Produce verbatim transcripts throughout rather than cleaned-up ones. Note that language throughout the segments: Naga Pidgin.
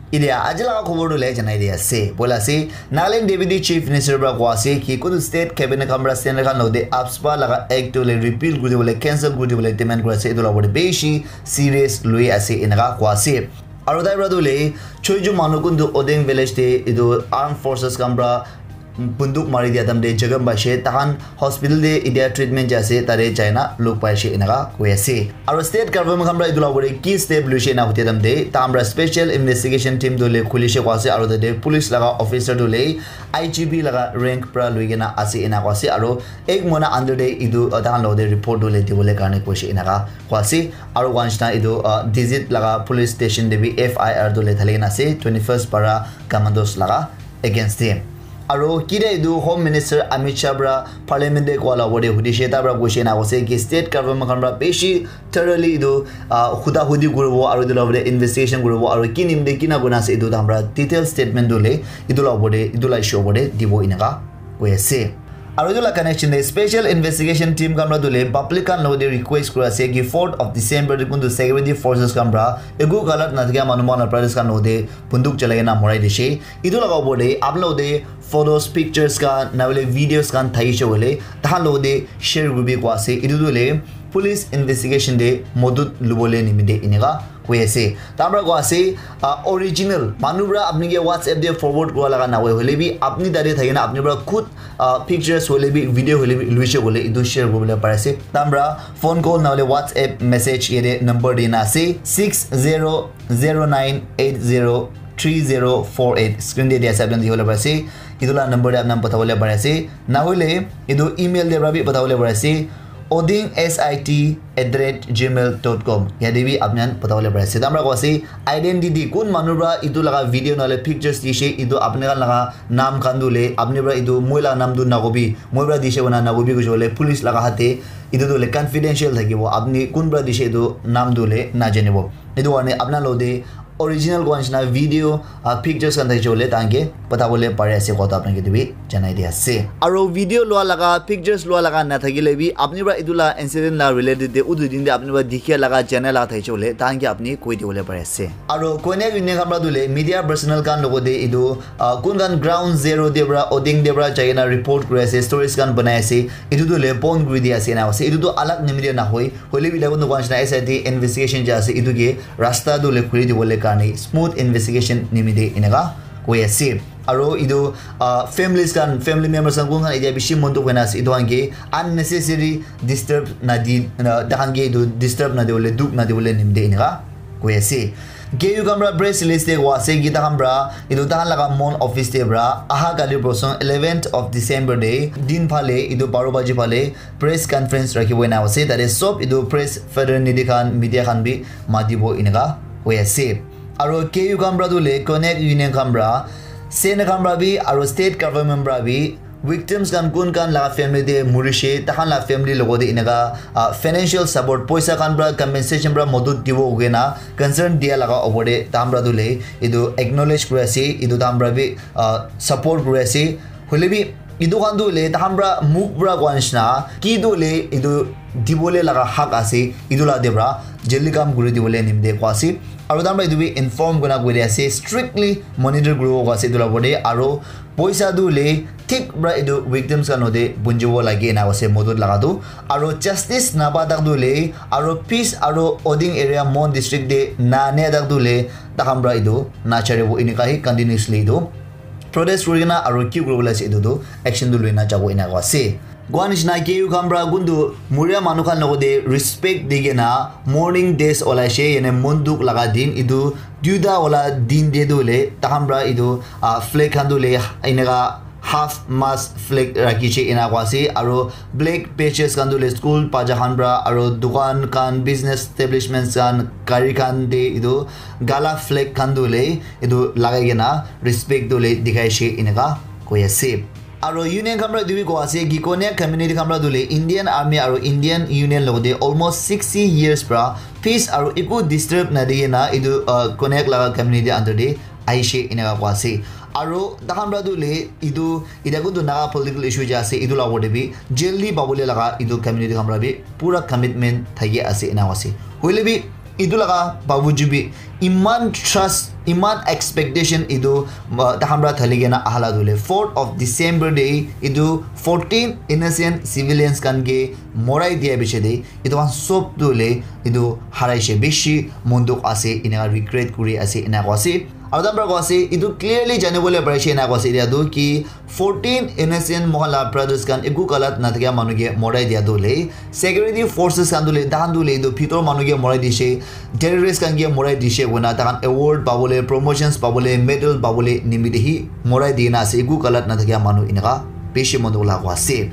Idia aji laga khobor tu le janai di ase. Bola ase, Nagaland Deputy Chief Minister pra koa ase ki kutu state cabinet khan pra centre khan lode AFSPA laga act tu le repeal kuri dibole, cancel kuri dibole demand kuri ase. Etu la opor te bishi serious lui ase enaka koa ase. Aru tai pra tu le choi ju manu kun tu Oding village te etu armed forces khan pra bunduk mari dia tam de jagam baishe, tahan hospital de idia treatment ja ase, tare jaina luk paishe enaka koi ase. Aro state government khan pra etu la opor de ki step luishe na hute tam de, tahan pra special investigation team tu le khulishe koi ase, aro tate police laga officer tu le I G P laga rank pra lui kena ase enaka ase, aro ek mona under de etu, uh, tahan lo de report tu le dibole karne koishe enaka koi ase. Aro wanshna etu, uh, Dizit laga police station de bi F I R tu le thali kena ase, twenty-first para commandos laga against him. Aro kida etu Home Minister Amit Shah pra parliament de koa la opor de hudishe, ta pra koishe na koise ki state government khan pra bishi thoroughly etu, ah, huda hudi kuribo aro etu la opor de investigation kuribo aro ki nimde kina kurina ase etu tahan pra detail statement tu le etu la opor de, etu la issue opor de dibo enaka koi ase. Aro etu la connection de special investigation team khan pra tu le public khan lo de request kura ase ki fourth of December de kuntu security forces khan pra eku galat na thakia manu man la brothers khan lo de bunduk chalai kena morai dishe. Etu laga opor te apni logote photos, pictures khan, na hoile videos khan thakishe koile, tahan logote share kuribi koa ase. Etu tu hoile police investigation te modot lubole nimite eneka koi ase. Tahan para koa ase, ah, original manu para apni ke WhatsApp te forward kura laga na hoi, hoile bi apni tate thaki na apni para khud, ah, pictures hoile bi, video hoile bi luishe koile etu share kuribole pari ase. Tahan para phone call na hoile WhatsApp message yate number dina ase, six zero zero nine eight zero three zero four eight. Screen te dia ase, apni khan dikhi bole pari ase. Etu la number te apni khan patha bole pari ase. Na hoile etu email te para bi patha bole pari ase. Oding sit at the rate gmail dot com. Yate bi apni khan patha bole pari ase. Tahan para koa ase, identity, kun manu para etu laga video na hoile pictures dishe, etu apni khan laga naam khan tu hoile, apni para etu moi laga naam tu nakobi, moi para dishe koina nakobi koishe koile police laga hath te etu tu hoile confidential thakibo. Apni kun para dishe etu naam tu hoile najanibo. Etu karne apni khan logote original koa nishina video, ah, pictures khan thakishe koile tahan ke patha bole pari ase koa tu apni khan ke etu bi janai di ase. Aro video lua laga, pictures lua laga na thakile bi apni para etu la incident la related te utu din te apni para dikhe laga, jane laga thakishe koile tahan ke apni koi dibole pari ase. Aro Konyak Union khan para tu hoile media personnel khan logote etu, ah, kun khan ground zero te para, Oding te para jai kena report kuri ase, stories khan banai ase, etu tu hoile bon kuri di ase na ase. Etu tu alag nimite na hoi, hoile bi etu koa nishina S I T investigation ja ase, etu ke rasta tu hoile khuli dibole karne smooth investigation nimite eneka koi ase. Aro etu, ah, families khan, family members khan kun khan etia bishi mon dukh hoina ase, etu khan ke unnecessary disturb na di, na, tahan ke etu disturb na dibole, dukh na dibole nimite eneka koi ase. K U khan para press release te koa ase ki tahan para etu tahan laga main office te para aha kali porson eleventh of December te din phale etu baro baji phale press conference rakhibo ena ase. Tate sob etu press fraternity khan, media khan bi matibo eneka hoi ase. Aro K U khan para tu hoile Konyak Union khan para, Sena khan para bi, aro state government para bi, victims khan kun khan laga family te murishe, tahan la family logote eneka, ah, financial support, poisa khan para compensation para modot dibo koina concern dia laga opor te tahan para tu hoile etu acknowledge kuri ase, etu tahan para bi, ah, support kuri ase. Hoile bi etu khan tu hoile tahan para mukh para koa nishina ki tu hoile etu dibole laga hak ase, etu la te para jaldi kam kuri dibole nimite koa ase. Aro tahan para etu bi inform kurina koi di ase, strictly monitor kuribo koa ase etu la opor te. Aro poisa tu hoile thik para etu victims khan logote punjibo lage ena ase modot laga tu. Aro justice napa tak tu hoile, aro peace aro Oding area Mon district te na ane tak tu hoile, tahan para etu na charibo eneka hi continuously etu protest kuri kena aro ki kuribole ase etu tu action tu lui na jabo eneka ase. Koa nishina K U khan para kuntu muria manu khan logote respect di kena mourning days olaishe, yane mon dukh laga din etu duita wala din te tu hoile tahan para etu, ah, flag khan tu hoile eneka half mast flag rakhishe ena koa ase, aro black patches khan tu hoile school bacha khan para aro dukan khan, business establishments khan, gari khan te etu kala flag khan tu hoile etu lagai kena respect tu hoile dikhaishe eneka koi ase. Aro union khan para etu bi koa ase ki Konyak community khan para tu hoile Indian Army aro Indian Union logote almost sixty years para peace aro eku disturb na di kena etu, uh, Konyak laga community under te ahishe eneka koa ase. Aro tahan para tu hoile etu, etia kuntu Naga political issue ja ase, etu la opor te bi jaldi pabole laga etu community khan para bi pura commitment thaki ase ena ase. Hoile bi Etu laga babuju bi iman trust, iman expectation etu, uh, takhan pra thali kena ahala dule fourth of December day etu fourteen innocent civilians khan ke morai dia biche de etu khan sob tu le etu haraishe, bishi monduk ase, eneka regret kuri ase, eneka ase. Aru takhan pra ko ase, etu clearly jani bole parishe, eneka ase etia tu ki fourteen innocent mohan la brothers khan eku galat nathakia manu ke morai dia tu le security forces khan tu le, tahan tu le etu bhitor manu ke morai dishe, terrorist khan ke morai dishe koina tahan award pabole, promotions pabole, medal pabole nimite hi morai dina ase, eku galat nathakia manu, eneka bishi monduk la ko ase.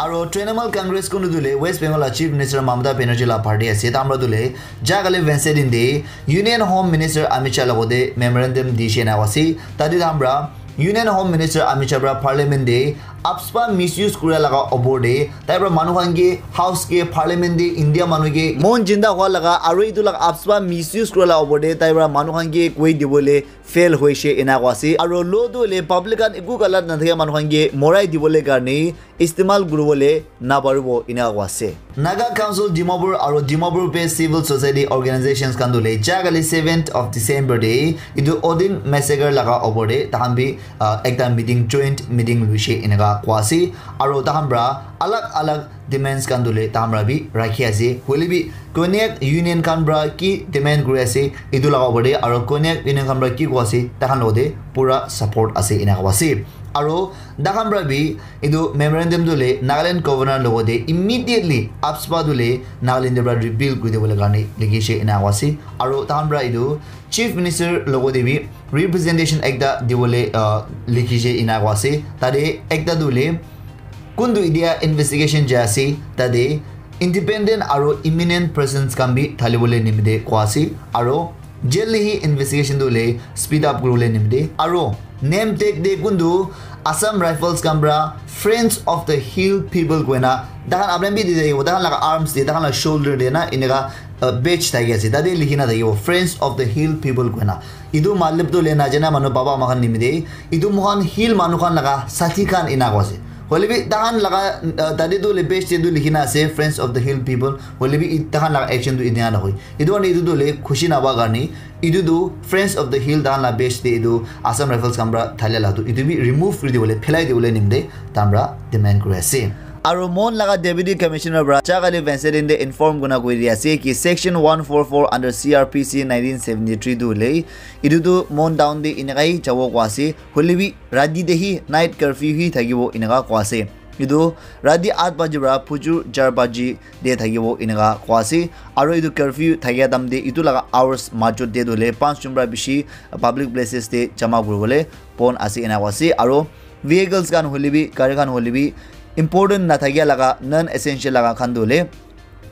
Aro Trinamool Congress kunu dule West Bengal la Chief Minister Mamata Banerjee la party ase. Tamra dule jakale Wednesday din de Union Home Minister Amit Shah logote memorandum di she na wasi. Tadi tamra Union Home Minister Amit Shah pra Parliament de AFSPA misuse kura laga opor de tai pra manu khan ke House ke Parliament de India manu ke mon jinda hua laga aro itu laga AFSPA misuse kura laga opor de tai pra manu khan ke koi dibole fail hoishe ena ko ase. Aro law tu hoile public khan eku galat nathakia manu khan ke morai dibole karne istemal kuribole naparibo ena ko ase. Naga Council Dimapur aro Dimapur based civil society organizations khan tu hoile jakali seventh of December de etu Odin massacre laga opor de tahan bi, ah, ekta meeting, joint meeting luishe eneka ko ase. Aro tahan pra alag alag demands khan tu hoile tahan pra bi rakhi ase. Hoile bi Konyak Union khan pra ki demand kuri ase etu laga opor de aro Konyak Union khan pra ki ko ase tahan logote pura support ase ena ko ase. Aro tahan pra bi etu memorandum tu hoile Nagaland Governor logote immediately AFSPA tu hoile Nagaland de pra repeal kuri dibole karne likhishe ena ko ase. Aro tahan pra etu Chief Minister logote bi representation ekta dibole, ah, likhishe ena ko ase. Tate ekta tu hoile kuntu itia investigation jai ase, tate independent aro eminent persons khan bi thalibole nimite ko ase. Aro jail hi investigation tu hoile speed up kuribole nimite. Aro name tag de kuntu Assam Rifles khan pra Friends of the Hill People koina tahan apni bi di thakibo, tahan laga arms de, tahan laga shoulder de na eneka, uh, badge thaki ase. Tate likhi na thakibo Friends of the Hill People koina. Etu matlab tu hoile najana manu baba ama khan nimite. Etu mohan hill manu khan laga sathi khan ena ko ase. Hoile bi tahan laga, uh, tate tu hoile badge de tu likhi na ase Friends of the Hill People. Hoile bi i-, tahan laga action tu ena na hoi. Etu karne etu tu hoile khushi naba karne etu tu Friends of the Hill tahan la badge de etu Assam Rifles khan pra thalia la tu etu bi remove kuri dibole, phelai dibole nimite tahan pra demand kuri ase. Aro mon laga Deputy Commissioner pra jakali Wednesday de inform kuna kuri di ase ki section one four four under C R P C nineteen seventy-three tu hoile etu tu mon town de eneka hi jabo ko ase. Hoile bi rati de hi night curfew hi thakibo eneka ko ase. Etu rati aat baji pra phujur char baji de thakibo eneka ko ase. Aro etu curfew thakia time de etu laga hours majot de tu hoile panch jon pra bishi public places de jama kuribole bon ase ena ko ase. Aro vehicles khan hoile bi, gari khan hoile bi, important nathakia laga, non essential laga khan tu hoile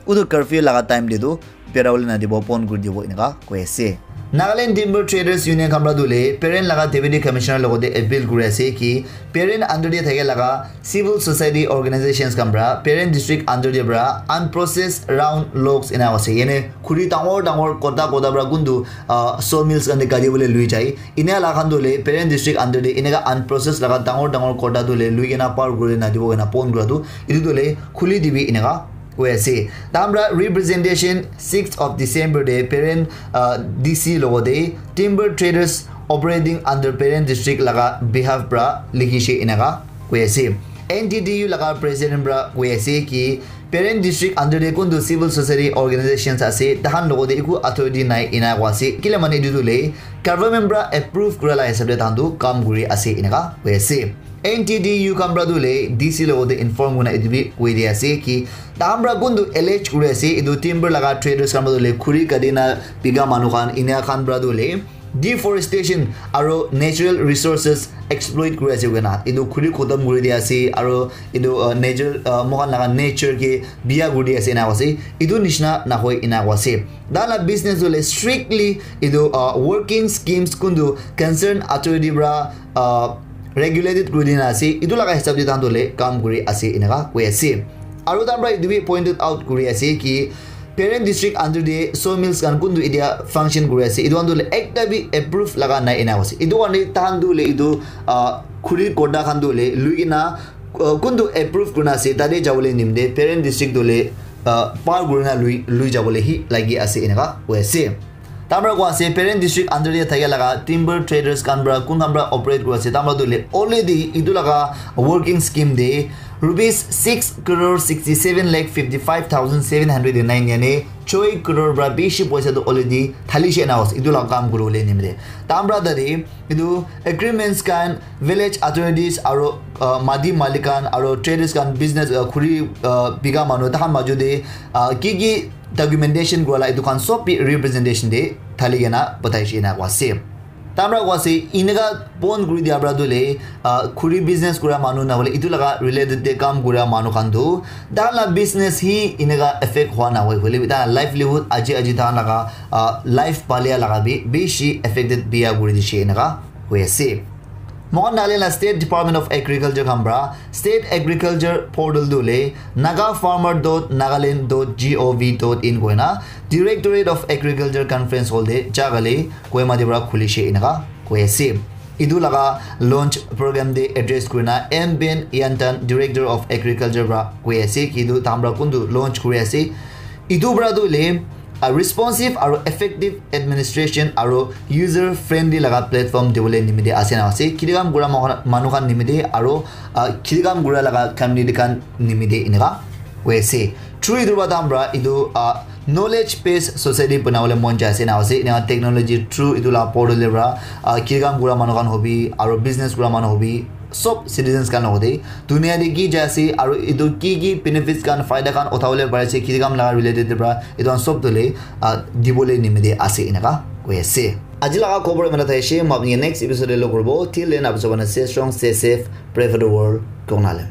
utu curfew laga time de tu berabole nadibo, bon kuri dibo eneka koi ase. Nagaland Timber Traders Union khan pra tu hoile parent laga Deputy Commissioner logote appeal kuri ase ki parent under de thakia laga civil society organizations khan pra parent district under de pra unprocessed round logs ena ase, yane khuri dangor dangor kota kota pra kuntu, ah, sawmills khan de gari bole lui jai, ena la khan tu hoile parent district under de eneka unprocessed laga dangor dangor kota tu hoile lui kena par kuri nadibo kena bon kura tu etu tu hoile khuli dibi eneka koi ase. Tahan pra representation sixth of December de parent, uh, D C logote timber traders operating under parent district laga behalf pra likhishe eneka koi ase. N T T U laga president pra koi ase ki parent district under de kuntu civil society organizations ase, tahan logote eku authority nai ena koi ase. Kile mane etu tu hoile government pra approve kura la hisab de tahan tu kam kuri ase eneka koi ase. N T T U khan pra tu hoile D C logote inform kurina etu bi koi di ase ki tahan pra kuntu allege kuri ase, etu timber laga traders khan pra tu hoile khuri kati na bika manu khan ena khan pra tu hoile deforestation aro natural resources exploit kuri ase koina etu khuri khotom kuri di ase aro etu, uh, nature, uh, moikhan laga nature ke biya kuri di ase ena koi ase. Etu nishina nahoi ena koi ase. Tahan la business tu hoile strictly etu, uh, working schemes kuntu concern authority pra, uh, regulated kuri dina ase, etu laga hisab de tahan tu hoile kam kuri ase eneka koi ase. Aro tahan pra etu bi pointed out kuri ase ki parent district under de sawmills khan kuntu etia function kuri ase, etu khan tu hoile ekta bi approve laga nai ena koi ase. Etu karne tahan tu hoile etu, ah, khuri kota khan tu hoile lui kena, ah, kuntu approve kurina ase tate jabole nimite parent district tu hoile uh, par kurina lui lui jabole hi lagi ase eneka koi ase. Tamra koi ase Peren district under te thakia laga timber traders khan pra kun khan pra operate kuri ase tamra tu le already itu laga working scheme de rupees six crore sixty seven lakh fifty five thousand seven hundred nine yani choi crore pra bishi poisa tu already thali she na ase itu laga kam kuri bole nimite tamra tade itu agreements khan village authorities aro uh, mati malik khan aro traders khan business uh, khuri uh, biga manu tahan maju de uh, ki ki documentation kura la itu khan sob bi representation de thali kena batai shi na koi ase. Tamra koi ase eneka bon kuri dia pra tu le uh, khuri business kura manu na hole itu laga related de kam kura manu khan tu dan la business hi eneka affect hua na hoi hole bi dan livelihood aji aji dan laga uh, life palia laga bi bishi affected bia kuri di shi eneka hoi ase. Mohan Nagaland la State Department of Agriculture khan pra State Agriculture Portal tu le nagafarmer.nagaland.gov.in koina Directorate of Agriculture Conference Hall de jagale Kohima de pra khuli she eneka koi ase. Itu laga launch program de address kurina M Ben Yantan Director of Agriculture pra koi ase kitu tamra kuntu launch kuri ase. Itu pra tu le a responsive aro effective administration aro user friendly laga platform dibole nimite ase na ase khiti kam kura manu khan nimite aro khiti kam kura laga community khan nimite eneka koi ase. Through itu pra tamra itu knowledge based society banabole mon jai ase na ase eneka technology through itu la portal pra khiti kam kura manu khan hobi aro business kura manu hobi sob citizens khan logode dunia te ki jai ase aru etu ki ki benefits khan faida khan uthabole pari ase khiti kam laga related te pra etu khan sob tu le dibole nimite ase eneka koi ase. Aji laga khobor eman thai ase, moi apni next episode te log koribo. Till then, apni sob stay strong, stay safe, pray for the world. Kong nale.